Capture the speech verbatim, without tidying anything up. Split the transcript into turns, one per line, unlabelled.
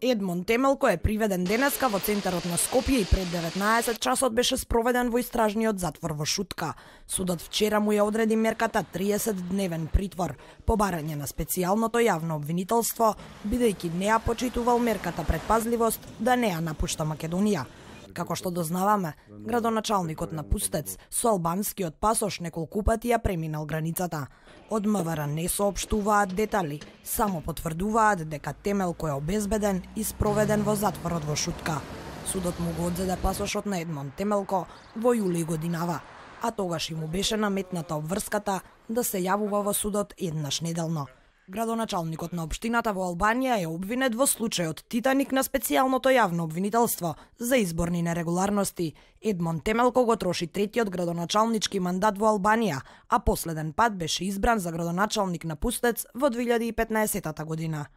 Едмон Темелко е приведен денеска во центарот на Скопје и пред деветнаесет часот беше спроведен во истражниот затвор во Шутка. Судот вчера му ја одреди мерката триесет дневен притвор по барање на специјалното јавно обвинителство, бидејќи не ја почитувал мерката предпазливост да не ја напушта Македонија. Како што дознаваме, градоначалникот на Пустец со албанскиот пасош неколку пати ја преминал границата. Од МВР не соопштуваат детали, само потврдуваат дека Темелко е обезбеден и спроведен во затворот во Шутка. Судот му го одзеде пасошот на Едмон Темелко во јули годинава, а тогаш и му беше наметната обврската да се јавува во судот еднаш неделно. Градоначалникот на општината во Албанија е обвинет во случајот Титаник на специјалното јавно обвинителство за изборни нерегуларности. Едмон Темелко го троши третиот градоначалнички мандат во Албанија, а последен пат беше избран за градоначалник на Пустец во две илјади и петнаесетта година.